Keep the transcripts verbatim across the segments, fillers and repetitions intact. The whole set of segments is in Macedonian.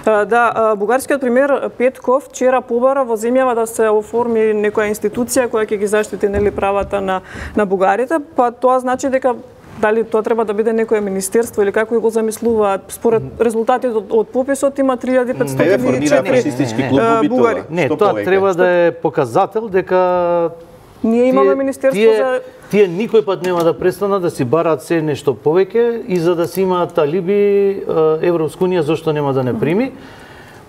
Да, бугарскиот премиер Петков вчера побара во земјава да се оформи некоја институција која ќе ги заштити нели правата на на бугарите, па тоа значи дека дали тоа треба да биде некое министерство или како го замислуваат? Според резултатите од, од пописот има три илјади и петстотини и четири бугари. Не, тоа треба да е показател дека ние имаме министерство тие, за тие никој пат нема да престанат да си бараат се нешто повеќе и за да си имаат алиби Европска унија зошто нема да не прими.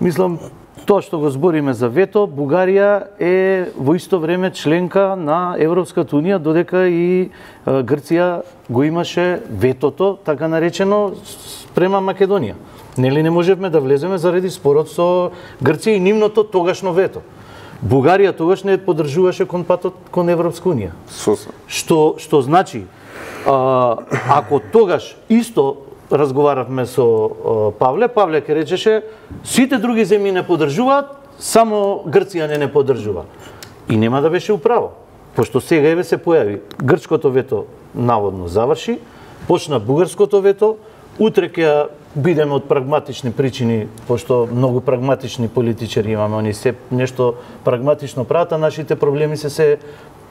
Мислам, тоа што го збориме за вето, Бугарија е во исто време членка на Европската унија, додека и Грција го имаше ветото, така наречено, спрема Македонија. Нели не можевме да влеземе заради спорот со Грција и нивното тогашно вето. Бугарија тогаш не поддржуваше кон патот кон Европска унија. Што што значи, а, ако тогаш исто разговаравме со Павле, Павле ке речеше сите други земји не поддржуваат, само Грција не не поддржува. И нема да беше управо, пошто сега еве се појави грчкото вето наводно заврши, почна бугарското вето, утре ќе бидеме од прагматични причини, пошто многу прагматични политичари имаме, они се нешто прагматично прават, а нашите проблеми се се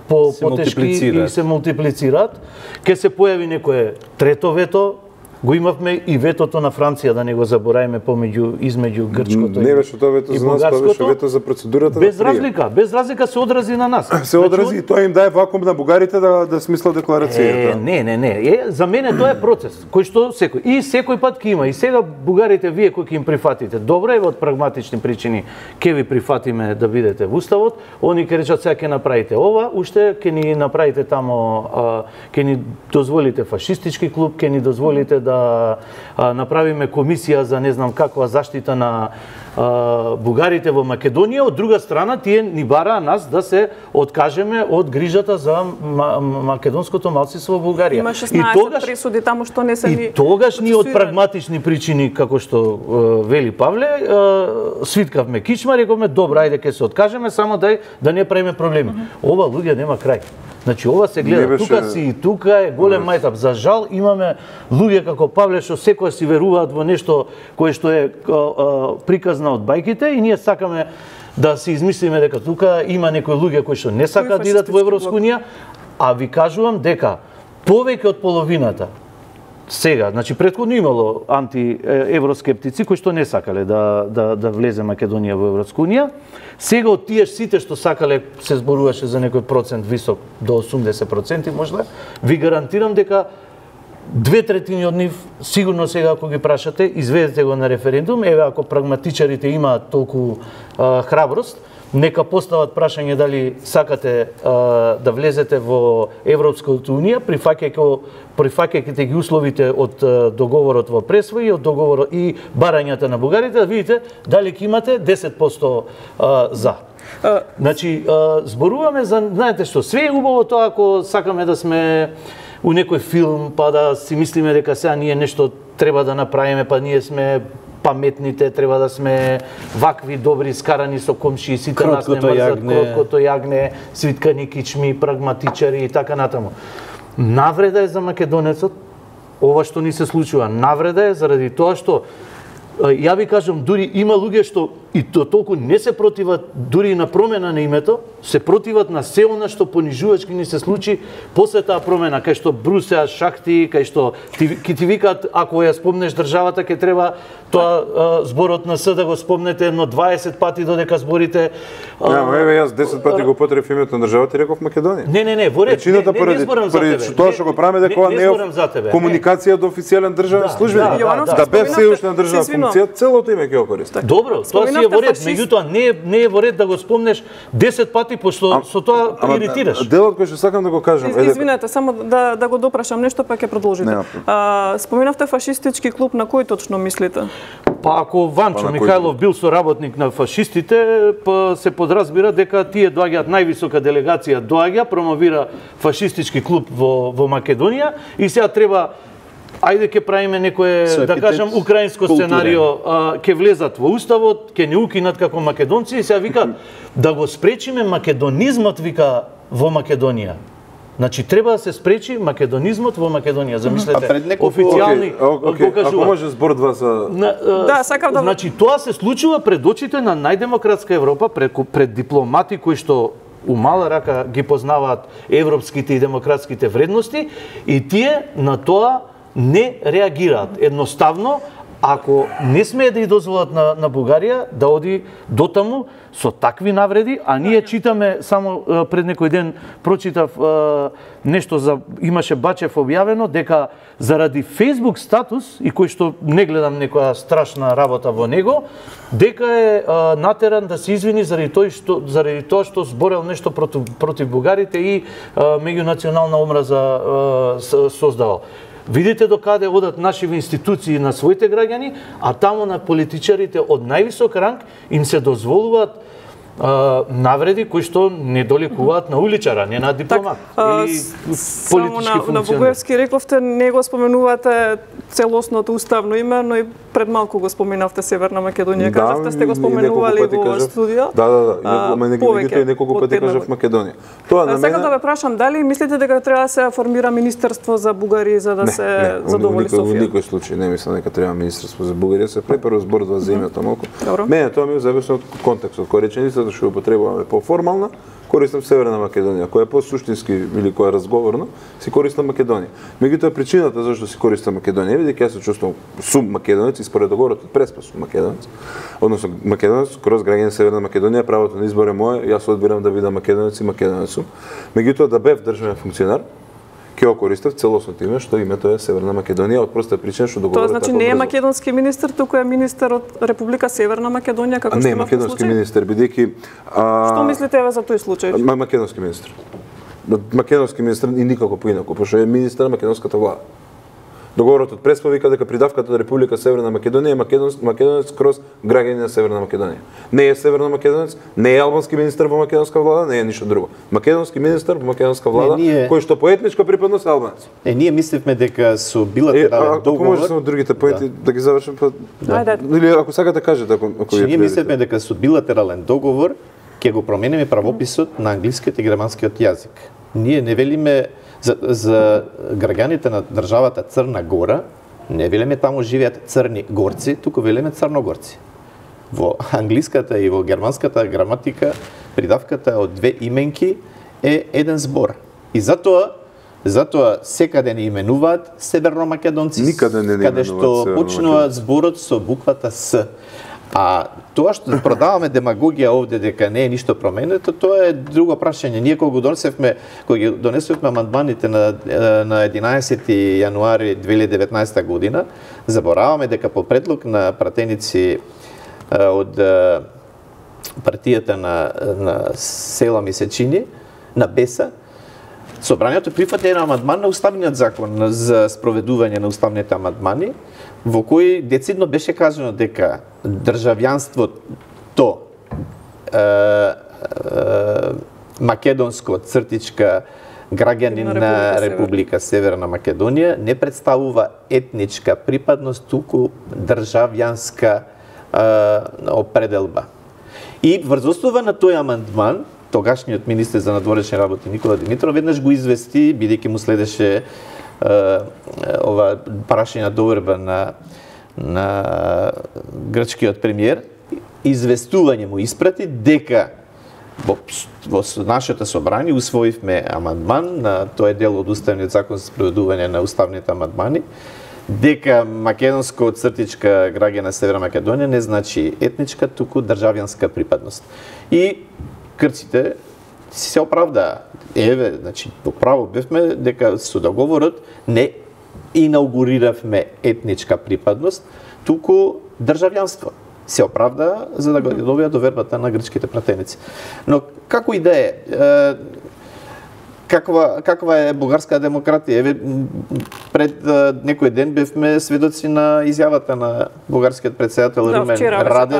по потешки и се мултиплицираат. Ке се појави некое трето вето, го имавме и ветото на Франција, да не го забораиме помеѓу измеѓу грчкото не беше тоа вето за нас, тоа беше вето за процедурата. Без разлика, без разлика се одрази на нас. Се одрази и тоа им дае вакуум на бугарите да да смислат декларацијата. Е, не, не, не. Е, за мене тоа е процес кој што секој и секој пат ќе има. И сега бугарите вие кои ќе им прифатите, добро е од прагматични причини ќе ви прифатиме да бидете во уставот, они ќе речат сега ќе направите ова, уште ќе ни направите тамо, ќе ни дозволите фашистички клуб, ќе ни дозволите да да направиме комисија за не знам каква заштита на а, бугарите во Македонија, од друга страна тие ни бараа нас да се откажеме од грижата за македонското малцинство во Бугарија. Има шеснаесет пресуди таму што не се ни. И тогаш ни од прагматични причини, како што е, вели Павле, е, свиткавме кичма, рековме добро, ајде ќе се откажеме, само дај да не правиме проблеми. Uh -huh. Ова луѓе нема крај. Значи ова се гледа, беше... тука си и тука е голем мајтап. За жал имаме луѓе како Павле што секој си веруваат во нешто кое што е а, а, приказна од бајките и ние сакаме да си измислиме дека тука има некои луѓе кои што не сакаат да идат во Европска унија, а ви кажувам дека повеќе од половината сега, значи претходно имало антиевроскептици кои што не сакале да да да влезе Македонија во Европска унија. Сега од тие сите што сакале, се зборуваше за некој процент висок до осумдесет проценти можда, ви гарантирам дека две третини од нив сигурно сега ако ги прашате, изведете го на референдум, еве ако прагматичарите имаат толку а, храброст, нека постават прашање дали сакате а, да влезете во Европската унија, прифаќајќи прифаќајќи ги условите од а, договорот во Пресвој и од договорот и барањата на бугарите, да видите дали ќе имате десет проценти а, за. Uh, значи, а, зборуваме за, знаете што, све е убаво тоа ако сакаме да сме у некој филм, па да си мислиме дека сега ние нешто треба да направиме, па ние сме паметните, треба да сме вакви добри, скарани со комши, сите нас не мрзат, кроткото јагне, свиткани кичми, прагматичари и така натаму. Навреда е за македонецот ова што ни се случува. Навреда е заради тоа што ја ви кажам, дури има луѓе што и то толку не се противат дури на промена на името, се противат на се она што понижувачки ни се случи после таа промена, кај што брусеа шахти, кај што ти, ки ти викаат ако ја спомнеш државата ќе треба тоа а, зборот на С да го спомнете едно дваесет пати додека зборите. Ја, еве јас десет пати го потребив името на државата и реков Македонија. Не, не, не, во ред. Причината не, не, не зборам за тебе. Тоа што го правиме дека ова не е комуникација до официјален државен службеник. Да, да, да бе се уште на државна функција, целото име ќе го користи. Добро, тоа си е во ред, меѓутоа не е не е во ред да го спомнеш десет пати пошто со тоа иритираш. Делот кој што сакам да го кажам е извинете, само да да го допрашам нешто па ќе продолжите. А, споменавте фашистички клуб, на кој точно мислите? Па ако Ванчо Михајлов бил соработник на фашистите, па се подразбира дека тие доаѓаат највисока делегација доаѓа, промовира фашистички клуб во во Македонија и сега треба ајде ќе правиме некое, да кажам, украинско сценарио, ќе влезат во уставот, ќе не укинат како македонци и сега вика да го спречиме македонизмот, вика, во Македонија. Значи треба да се спречи македонизмот во Македонија. Замислете, неколку... официјални okay, okay. Ако може збор два за на, Да, сакам да Значи тоа се случува пред очите на најдемократска Европа, пред, пред дипломати кои што у мала рака ги познаваат европските и демократските вредности и тие на тоа не реагираат. Едноставно, ако не смее да ја дозволат на, на Бугарија да оди до таму со такви навреди, а ние читаме само пред некој ден прочитав нешто за имаше Бачев објавено дека заради Facebook статус и кој што не гледам некоја страшна работа во него, дека е а, натеран да се извини заради тој што заради тоа што зборел нешто против против бугарите и а, меѓунационална омраза а, создавал. Видите до каде одат нашите институции на своите граѓани, а таму на политичарите од највисок ранг им се дозволуваат а, навреди кои што не доликуваат на уличара, не на дипломат так, или политички функционер. На Бугаевски рековте не го споменувате целосното уставно име, но и пред малку го споменавте Северна Македонија. Да, кажавте сте го споменували во кажав, студио. Да, да, да. А, ама неколку и неколку пати кажав Македонија. Тоа на мене. Сакам да ве прашам дали мислите дека треба да се формира министерство за Бугарија за да не, се не, задоволи Софија? Во никој случај не мислам дека треба министерство за Бугарија, се препарува збор за земјата малку. Мене тоа ми е зависно од контекстот, кој реченицата што ја употребуваме поформална, користам Северна Македонија, која е посуштински или која е разговорно, си користам Македонија. Меѓутоа причината зашто си користам Македонија е дека јас се чувствувам сум македонец и според договорот од Преспа сум македонец. Односно македонец кроз граѓани Северна Македонија, правото на избор е мое, јас одбирам да бидам македонец и македонец сум. Меѓутоа да бев државен функционер, ќе го користев целосното име што името е Северна Македонија од проста причина што договорот тоа значи не е македонски министер, туку е министер од Република Северна Македонија како што има. Не, македонски министер бидејќи Што мислите еве за тој случај? Македонски министер. Македонски министер и никако поинаку, пошто е министер на македонската влада. Договорот од Преспа вика дека придавката од Република Северна Македонија е македонец, македонец кроз граѓани на Северна Македонија. Не е северно македонец, не е албански министер во македонска влада, не е ништо друго. Македонски министер во македонска влада, не, ние... кој што по етничка припадност е албанец. Е, ние мисливме дека со билатерален договор... Ако може само другите поинти да, да ги завршим, па... Да. Или ако сакате кажете, ако, ако ние мислевме дека со билатерален договор ќе го промениме правописот на англискиот и германскиот јазик. Ние не велиме за, за граѓаните на државата Црна Гора, не велиме таму живеат црни горци, туку велиме црногорци. Во англиската и во германската граматика придавката од две именки е еден збор. И затоа затоа секаде не именуваат северномакедонци, никаде не не каде што почнува зборот со буквата С. А тоа што продаваме демагогија овде дека не е ништо променето, тоа е друго прашање. Ние кога го донесевме, кога ги донесовме амандманите на на единаесети јануари две илјади и деветнаесета година, забораваме дека по предлог на пратеници од партијата на на Села Мисечини, на Беса, Собранието прифати еден амандман на уставниот закон за спроведување на уставните амандмани, во кој децидно беше кажано дека државјанството е, е, македонско цртичка граѓанин на Република Северна Македонија не представува етничка припадност, туку државјанска е, определба. И врз основа на тој амандман, тогашниот министер за надворешни работи Никола Димитров веднаш го извести, бидејќи му следеше е, ова прашање доверба на на грчкиот премиер, известување му испрати дека во, во нашето собрание усвоивме амандман на тој дел од уставниот закон за спроведување на уставните амандмани, дека македонско цртичка граѓана Северна Македонија не значи етничка, туку државјанска припадност. И грците се оправдаа. Еве, значи, по право бевме дека со договорот не инаугуриравме етничка припадност, туку државјанство. Се оправдаа за да го добија довербата на грчките пратеници. Но како и да е, каква каква е бугарска демократија? Еве пред некој ден бевме сведоци на изјавата на бугарскиот председател да, Румен Радев,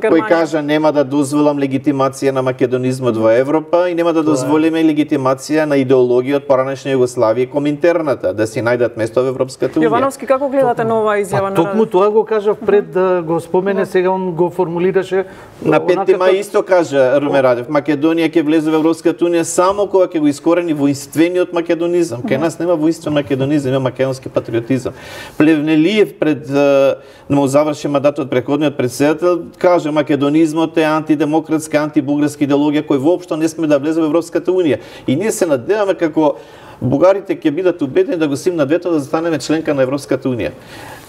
кој кажа нема да дозволам легитимација на македонизмот во Европа и нема да дозволиме легитимација на идеологија од поранешна Југославија и коминтерната, да си најдат место во Европската унија. Јовановски, како гледате на оваа изјава на Радев? Токму тоа го кажав пред да го спомене, сега он го формулираше на петти мај исто кажа Румен Радев, Македонија ќе влезе во Европската унија само кога ќе го искористи створени воинствениот македонизам. Кај нас нема воинствен македонизам, има македонски патриотизам. Плевнелиев пред да му заврши мандатот предходниот председател каже македонизмот е антидемократска, антибугарска идеологија кој воопшто не сме да влезе во Европската унија. И ние се надеваме како бугарите ќе бидат убедени да го симнат вето да станеме членка на Европската унија.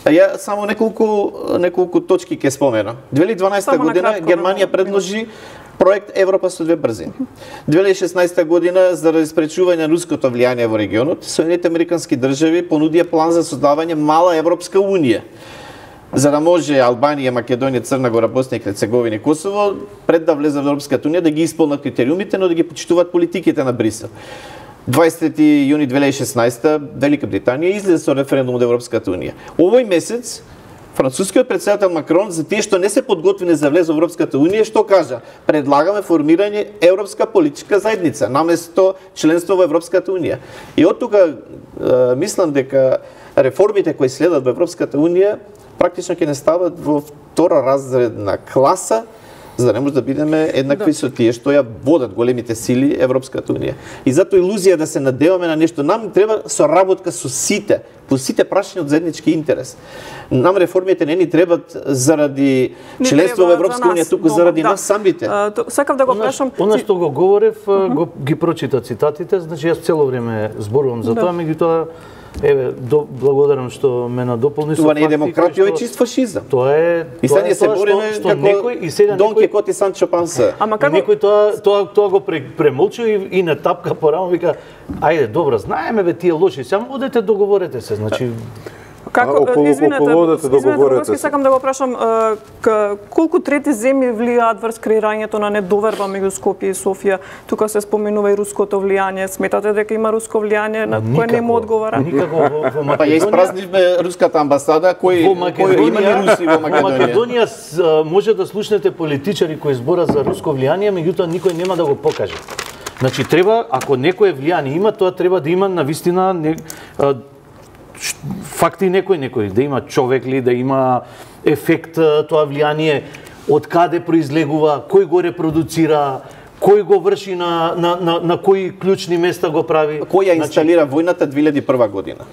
А ја само неколку неколку точки ќе споменам. две илјади и дванаесета година Германија предложи проект Европа со две брзини. две илјади и шеснаесета година заради спречување на руското влијание во регионот, Соединените американски држави понудија план за создавање мала Европска унија, за да може Албанија, Македонија, Црна Гора, Босна и Херцеговина и Косово пред да влезат во Европската унија да ги исполнат критериумите, но да ги почитуваат политиките на Брисел. дваесети јуни две илјади и шеснаесета Велика Британија излезе со референдум од Европската унија. Овој месец францускиот председател Макрон за тие што не се подготвени за влез во Европската унија, што кажа? Предлагаме формирање Европска политичка заедница наместо членство во Европската унија. И од тука мислам дека реформите кои следат во Европската унија практично ќе не стават во втора разредна класа, за да не може да бидеме еднакви да. Со тие што ја водат големите сили Европската унија. И затоа илузија да се надеваме на нешто, нам треба соработка со сите, по сите прашања од заеднички интерес. Нам реформите не ни требат заради не членство во Европска унија, туку заради да. Нас самите. Uh, сакав да го прашам. Она што го говорев, uh -huh. го ги прочита цитатите, значи јас цело време зборувам за да. Тоа, меѓутоа еве, до, благодарам што ме надополни со тоа не е демократија, е чист фашизам. Тоа е и сега се бориме што како некој и сега Дон Кихот и Санчо Панса. Ама како некој тоа тоа тоа го премолчи и, и на тапка порамо вика ајде добро, знаеме бе тие лоши, само одете договорете се, значи Како, извинете, извинете, сакам да го прашам, колку трети земји влијаат врз креирањето на недоверба меѓу Скопје и Софија? Тука се споменува и руското влијание. Сметате дека има руско влијание на кое не му одговара? Никако во, во Македонија. Па ја испразнивме руската амбасада, кој кој има ни руси во Македонија. Во Македонија може да слушнете политичари кои зборат за руско влијание, меѓутоа никој нема да го покаже. Значи треба, ако некое влијание има, тоа треба да има навистина не, факти некој некој, да има човек ли, да има ефект тоа влијание, од каде произлегува, кој го репродуцира, кој го врши на на на, на кои клучни места го прави. Кој ја инсталира значи, војната две илјади и прва година?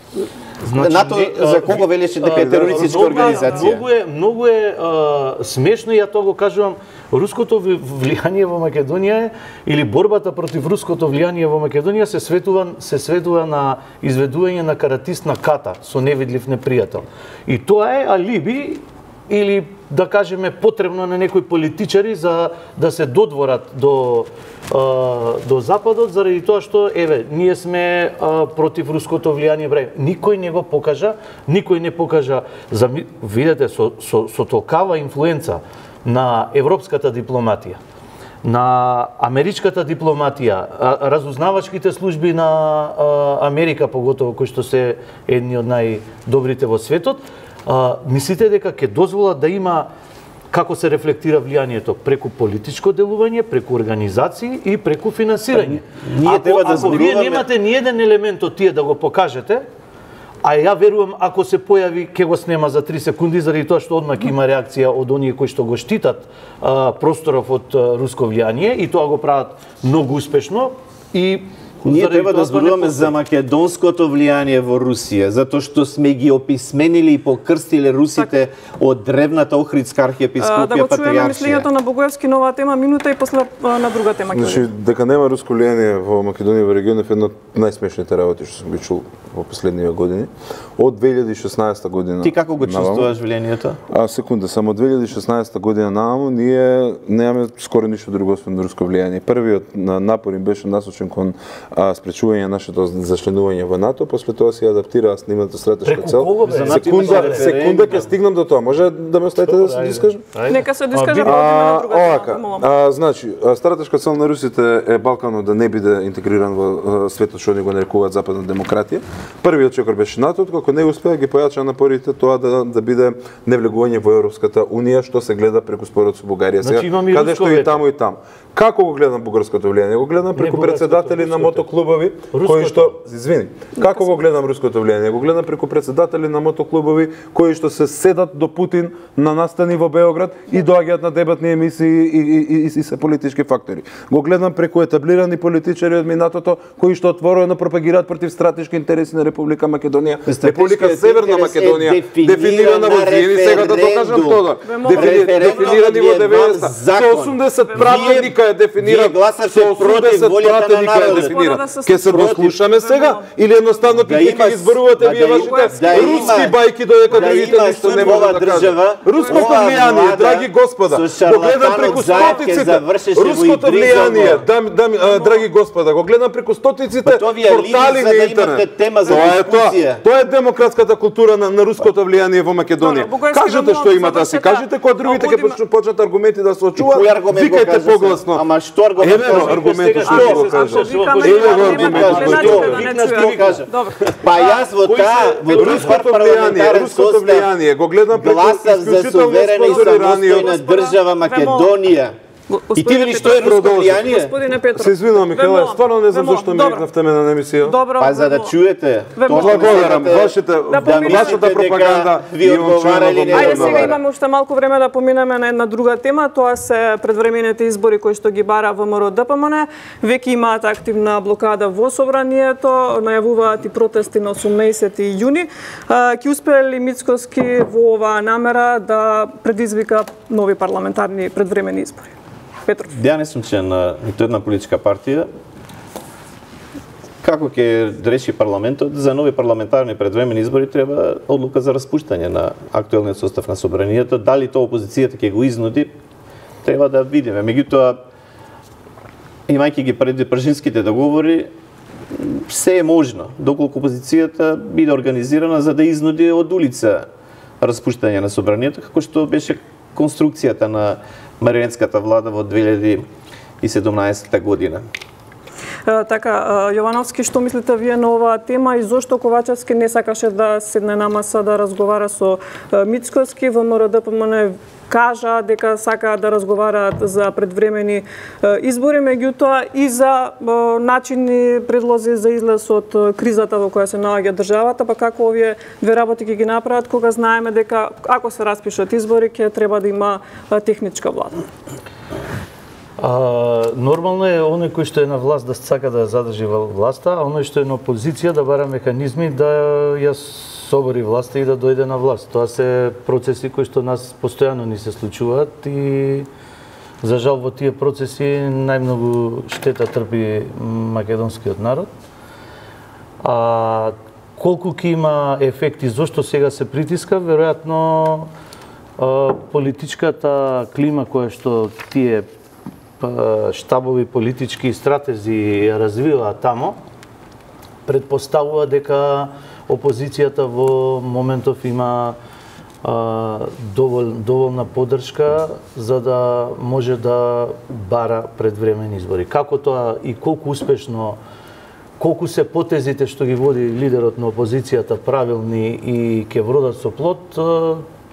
Значи, НАТО за кого велеше дека е терористичка организација? Многу е многу е а, смешно, ја тоа го кажувам, руското влијание во Македонија или борбата против руското влијание во Македонија се светува се светува на изведување на каратист на ката со невидлив непријател. И тоа е алиби или да кажеме потребно на некои политичари за да се додворат до а, до западот заради тоа што еве ние сме а, против руското влијание бре. Никој не го покажа, никој не покажа за видете со со со толкава инфлуенца на европската дипломатија, на америчката дипломатија, разузнавачките служби на Америка, поготово кои што се едни од најдобрите во светот, мислите дека ќе дозволат да има како се рефлектира влијанието преку политичко делување, преку организации и преку финансирање. Ние треба да зборуваме. Ако вие немате ни еден елемент од тие да го покажете, а ја верувам ако се појави ќе го снема за три секунди заради тоа што одмак има реакција од оние кои што го штитат а, просторов од а, руско влијание и тоа го прават многу успешно и ние треба да зборуваме за македонското влијание во Русија, затоа што сме ги описменили и покрстиле русите так, од древната Охридска архиепископија да патриаршија. Да го чуеме мислењето на Богоевски, нова тема, минута и после на друга тема. Значи, дека нема руско влијание во Македонија во регионот е една од најсмешните работи што сум ги чул во последниве години. Од две илјади и шеснаесета година. Ти како го чувствуваш влијанието? А секунда, само од две илјади и шеснаесета година нааму ние немаме скоро ништо друго освен руско влијание. Првиот напор им беше насочен кон а, спречување нашето зачленување во НАТО, после тоа се адаптираа снимната стратешка цел. Секунда, секунда ќе стигнам до тоа. Може да ме оставите да се дискажам? Нека се дискаже, одиме на друга тема. А, значи, стратешка цел на русите е Балканот да не биде интегриран во светот што они го нарекуваат западна демократија. Првиот чекор беше НАТО, како не успеа ги појача напорите тоа да да биде невлегување во Европската унија, што се гледа преку спорот со Бугарија сега, значи, каде што и таму и таму. Како го гледам бугарското влијание? Го гледам преку председатели на мотокросови мотоклубови кои што извини, како го гледам руското влијание? Го гледам преку претседатели на мотоклубови кои што се седат до Путин на настани во Београд и доаѓаат на дебатни емисии и, и, и, и се политички фактори. Го гледам преку етаблирани политичари од минатото кои што отворено пропагираат против стратешки интереси на Република Македонија. Република Северна Македонија дефинирана во земи, сега да докажам тоа. Дефинирани во деветдесетта. Со осумдесет пратеника е дефиниран. Со осумдесет пратеника е дефиниран. Ке се дослушаме сега или едноставно ќе ги изборувате вие вашите руски бајки додека другите ништо не можат да кажат. Руското влијание, драги господа, го гледам преку стотиците. Руското влијание, драги господа, го гледам преку стотиците портали на интернет. Тоа е тоа. Тоа е демократската култура на, на руското влијание во Македонија. Кажете што имате да си кажете, кога другите ќе почнат аргументи да се очуваат. Викајте погласно. Ама што аргумент? Еве аргументот што го кажа. Еве аргументот што го кажа. Па јас во таа во руското влијание, руското влијание го гледам преку исклучително спонзорираниот држава Македонија. И ти видиш што е руско влијание? Господине Петров. Се извинувам, Михаела, стварно не знам зашто ми рекнавте мене на емисија. Па за да чуете. Благодарам, вашата вашата пропаганда ви одговара или не Ајде сега одговара. имаме уште малку време да поминеме на една друга тема, тоа се предвремените избори кои што ги бара ВМРО Д П М Н. Веќе имаат активна блокада во собранието, најавуваат и протести на осумнаесети јуни. Ќе успее ли Мицкоски во оваа намера да предизвика нови парламентарни предвремени избори? Петров. Ја не сум член на ниту една политичка партија. Како ќе реши парламентот за нови парламентарни предвремени избори треба одлука за распуштање на актуелниот состав на собранието. Дали тоа опозицијата ќе го изнуди, треба да видиме. Меѓутоа, имајќи ги преди пржинските договори, се е можно, доколку опозицијата биде организирана за да изнуди од улица распуштање на собранието, како што беше конструкцијата на марионетската влада во две илјади и седумнаесетта година. Така, Јовановски, што мислите вие на оваа тема и зошто Ковачевски не сакаше да седне на маса да разговара со Мицкоски? ВМРО Д П М Н кажа дека сакаат да разговараат за предвремени избори, меѓутоа и за начини, предлози за излез од кризата во која се наоѓа државата, па како овие две работи ќе ги направат кога знаеме дека ако се распишат избори ќе треба да има техничка влада? А, нормално е оној кој што е на власт да сака да ја задржи власта, а оној што е на опозиција да бара механизми да ја собори власта и да дојде на власт. Тоа се процеси кои што нас постојано ни се случуваат и за жал во тие процеси најмногу штета трпи македонскиот народ. А колку ќе има ефекти, зошто сега се притиска, веројатно политичката клима која што тие штабови политички и стратези ја развиваат тамо, предпоставува дека опозицијата во моментов има а, довол, доволна поддршка за да може да бара предвремени избори. Како тоа и колку успешно, колку се потезите што ги води лидерот на опозицијата правилни и ќе вродат со плод,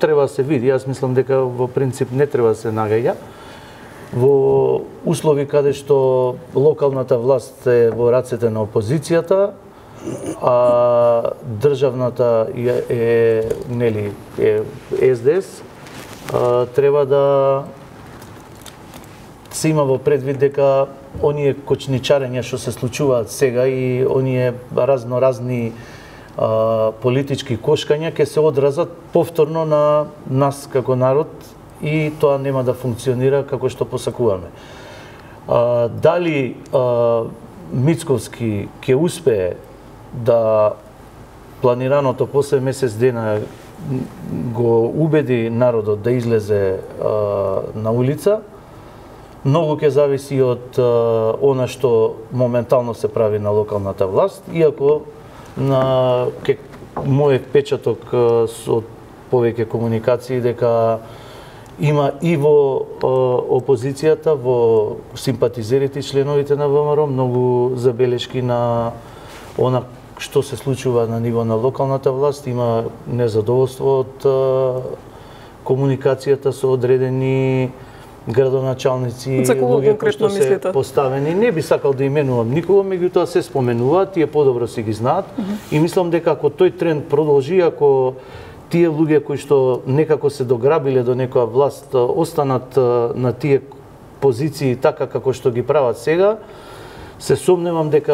треба да се види. Јас мислам дека во принцип не треба да се нагаѓа. Во услови каде што локалната власт е во рацете на опозицијата, а државната е, е нели е С Д С, а, треба да се има во предвид дека оние кочничарења што се случуваат сега и оние разноразни а, политички кошкања ќе се одразат повторно на нас како народ и тоа нема да функционира како што посакуваме. А, дали а, Мицковски ќе успее да планираното после месец дена го убеди народот да излезе а, на улица, многу ќе зависи од а, она што моментално се прави на локалната власт, иако на ке, мојот печаток а, од повеќе комуникации дека има и во а, опозицијата, во симпатизерите и членовите на В М Р многу забелешки на она што се случува на ниво на локалната власт, има незадоволство од а, комуникацијата со одредени градоначалници, За кого луѓе кои конкретно што се мислите? поставени. Не би сакал да именувам никого, меѓутоа се споменуваат, тие подобро си ги знаат и мислам дека ако тој тренд продолжи, ако тие луѓе кои што некако се дограбиле до некоја власт останат на тие позиции така како што ги прават сега, се сомневам дека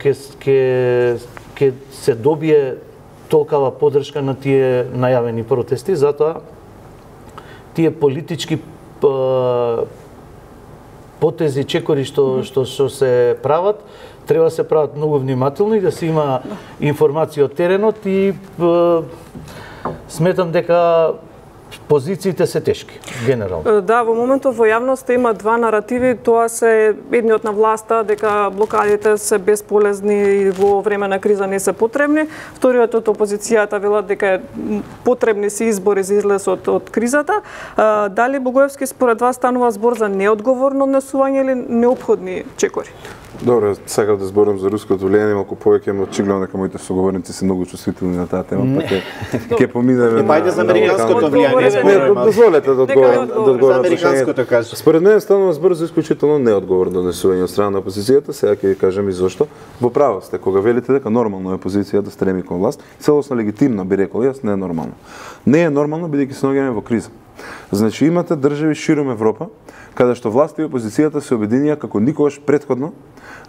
ќе ќе ќе се добие толкава поддршка на тие најавени протести, затоа тие политички потези, чекори што што што се прават, треба да се прават многу внимателно и да се има информација од теренот и сметам дека позициите се тешки, генерално. Да, во моментот во јавноста има два наративи, тоа се едниот на власта дека блокадите се безполезни и во време на криза не се потребни, вториот од опозицијата велат дека потребни се избори за излез од, од кризата. Дали Богоевски според вас станува збор за неодговорно однесување или неопходни чекори? Добро, сакав да зборам за руското влијание малку повеќе, но очигледно дека моите соговорници се многу чувствителни на таа тема, па ќе ќе поминеме на Пајде за американското влијание. Не, дозволете да одговорам, да одговорам за американското кажа. Според мене станува збор за исклучително неодговорно однесување од страна на опозицијата, сега ќе ви кажам и зошто. Во право сте кога велите дека нормално е опозиција да стреми кон власт, целосно легитимно би рекол јас, не е нормално. Не е нормално бидејќи се наоѓаме во криза. Значи имате држави широм Европа каде што власта и опозицијата се обединија како никогаш претходно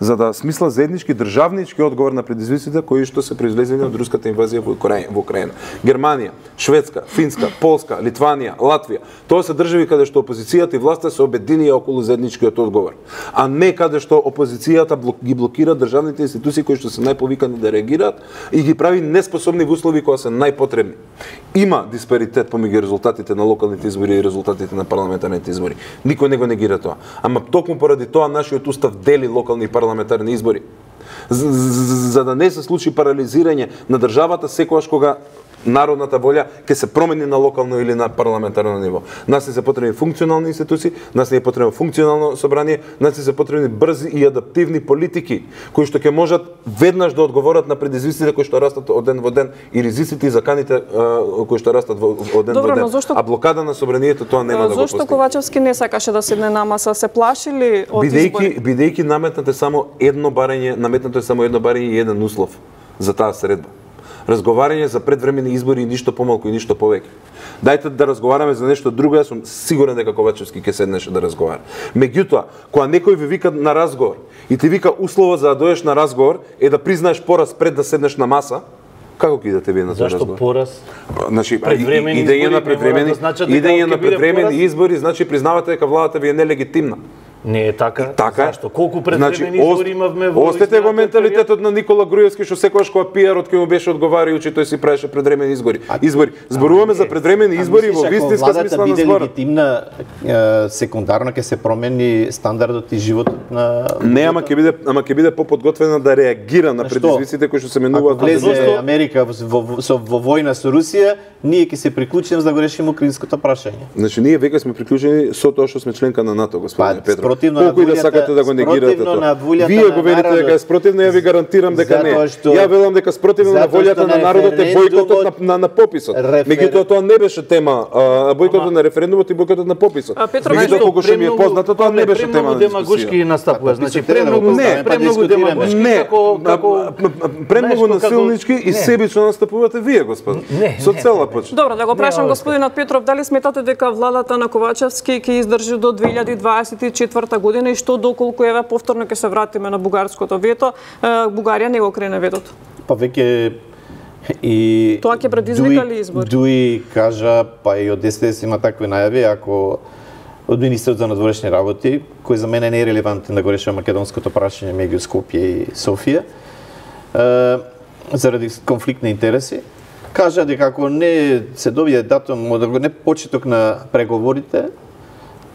за да смисла заеднички државнички одговор на предизвиците кои што се произлезени од руската инвазија во Украина. Германија, Шведска, Финска, Полска, Литванија, Латвија. Тоа се држави каде што опозицијата и власта се обединија околу заедничкиот одговор, а не каде што опозицијата ги блокира државните институции кои што се најповикани да реагираат и ги прави неспособни во услови кога се најпотребни. Има диспаритет помеѓу резултатите на локалните избори и резултатите на парламентарните избори. Никој не го негира тоа. Ама токму поради тоа нашиот устав дели локални и парламентарни избори. За, за, за да не се случи парализирање на државата секогаш кога народната волја ќе се промени на локално или на парламентарно ниво. Нас не се потребни функционални институции, нас не е потребно функционално собрание, нас не се потребни брзи и адаптивни политики кои што ќе можат веднаш да одговорат на предизвиците кои што растат од ден во ден и ризиците и заканите кои што растат од ден Добро, во ден. Зошто... А блокада на собранието тоа нема да го постигне. Зошто Ковачевски не сакаше да седне на маса, се плашили од избори? Бидејќи бидејќи наметнате само едно барање, наметнато е само едно барање и еден услов за таа средба. Разговарање за предвремени избори и ништо помалку и ништо повеќе. Дајте да разговараме за нешто друго, јас сум сигурен дека Ковачевски ќе седнеше да разговара. Меѓутоа, кога некој ви вика на разговор и ти вика услова за да дојдеш на разговор е да признаеш пораз пред да седнеш на маса, како ќе идете вие на тој разговор? Зашто пораз? Значи, предвремени идеја на предвремени, идеја на предвремени избори, значи признавате дека владата ви е нелегитимна. Не е така. Така. Зашто? Колку предвремени значи, избори имавме во Остете го менталитетот на Никола Груевски што секогаш кога пиарот кој му беше одговарајучи тој си правеше предвремени избори. Избори. Зборуваме за предвремени избори во вистинска смисла на зборот. Легитимна, секундарно ќе се промени стандардот и животот на Не, ама ќе биде ама ќе биде поподготвена да реагира на предизвиците кои што се менуваат. Ако влезе Америка во, во, во војна со Русија, ние ќе се приклучиме за да го решиме украинското прашање. Значи ние веќе сме приклучени со тоа што сме членка на НАТО, господин Петров. Спротивно Колку и да сакате да го негирате тоа. Вие го велите дека е спротивно, ја ви гарантирам дека не. Ја велам дека спротивно на волјата на народот е бојкотот на, на, на пописот. Рефер... Меѓутоа тоа не беше тема, а, бојкотот на референдумот и бојкотот на пописот. Меѓутоа колку што ми е познато, тоа не беше тема на демагошки настапува. Значи премногу не, премногу демагошки како како премногу насилнички и себично настапувате вие, господи. Со цела почит. Добро, да го прашам господинот Петров, дали сметате дека владата на Ковачевски ќе издржи до две илјади дваесет и четврта година и што доколку еве повторно ќе се вратиме на бугарското вето, Бугарија не го крене ветото? Па веќе и тоа ќе предизвика ли избори? Дуи кажа, па и од ДСДС има такви најави, ако од министерот за надворешни работи, кој за мене не е релевантен да го решава македонското прашање меѓу Скопје и Софија, е, заради конфликт на интереси, кажа дека ако не се добие датум, од не почеток на преговорите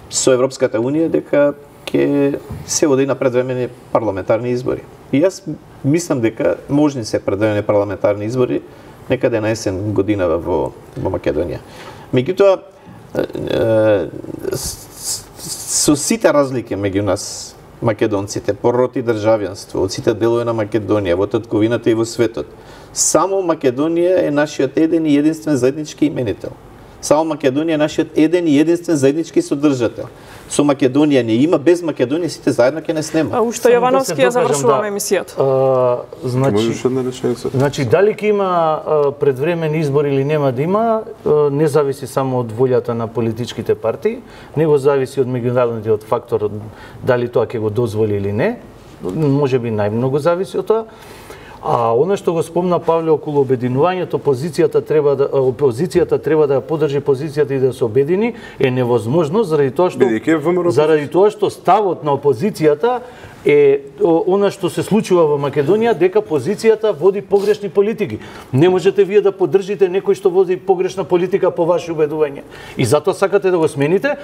со Европската унија, дека ќе се оди на предвремени парламентарни избори. И јас мислам дека можни се предвремени парламентарни избори некаде на есен година во, во Македонија. Меѓутоа, со сите разлики меѓу нас, македонците, пороти државјанство, од сите делови на Македонија, во татковината и во светот, само Македонија е нашиот еден и единствен заеднички именител. Само Македонија е нашиот еден и единствен заеднички содржател. Со Македонија не има, без Македонија сите заедно ќе не снема. А уште Јовановски ја завршуваме емисијата. Значи, значи дали ќе има предвремени избори или нема да има, не зависи само од волјата на политичките партии, него зависи од меѓународниот фактор дали тоа ќе го дозволи или не. Може би најмногу зависи од тоа. А она што го спомна Павле околу обединувањето, опозицијата треба да опозицијата треба да ја поддржи позицијата и да се обедини, е невозможно заради тоа што заради тоа што ставот на опозицијата е она што се случува во Македонија, дека позицијата води погрешни политики. Не можете вие да поддржите некој што води погрешна политика по ваши убедувања. И затоа сакате да го смените,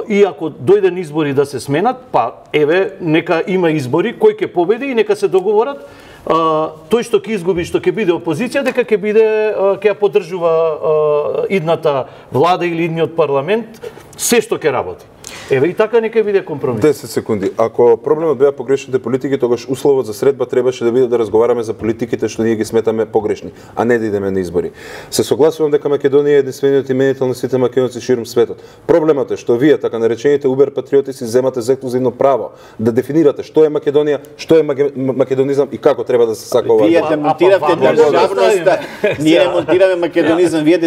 и ако дојден избори да се сменат, па еве нека има избори, кој ќе победи и нека се договорат. Uh, тој што ќе изгуби, што ќе биде опозиција, дека ќе биде uh, ќе ја поддржува uh, идната влада или идниот парламент, се што ќе работи. Еве и така нека биде компромис. десет секунди. Ако проблемот беа погрешните политики, тогаш условот за средба требаше да биде да разговараме за политиките што ние ги сметаме погрешни, а не да идеме на избори. Се согласувам дека Македонија е единствениот именител на сите македонци ширум светот. Проблемот е што вие, така наречените убер патриоти, си земате за ексклузивно право да дефинирате што е Македонија, што е македонизам и како треба да се сака ова. Вие демонтиравте државноста, ние демонтираме македонизам, вие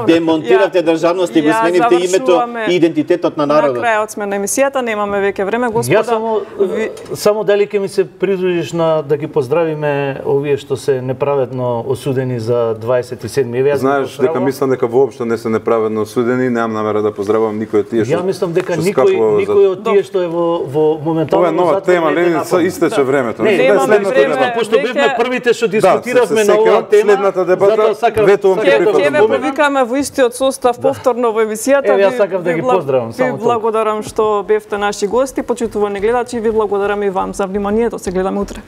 демонтиравте државноста и го сменивте името и идентитетот на народот. На крајот сме на емисијата, немаме веќе време, господа. Ја само, ви... само дали ќе ми се придружиш на да ги поздравиме овие што се неправедно осудени за дваесет и седми еве. Знаеш дека мислам дека воопшто не се неправедно осудени, немам намера да поздравам никој од тие што. Ја мислам дека никој никој од тие што е во во моментално ова е нова тема, Леница, истече времето. Не, немаме време, пошто бевме првите што дискутиравме на оваа тема. Следната дебата, ветувам ќе ќе ве повикаме во истиот состав повторно во емисијата. Еве ја сакам да ги поздравам само. Благодарам што бевте наши гости, почитувани гледачи, ви благодарам и вам за вниманието. Се гледаме утре.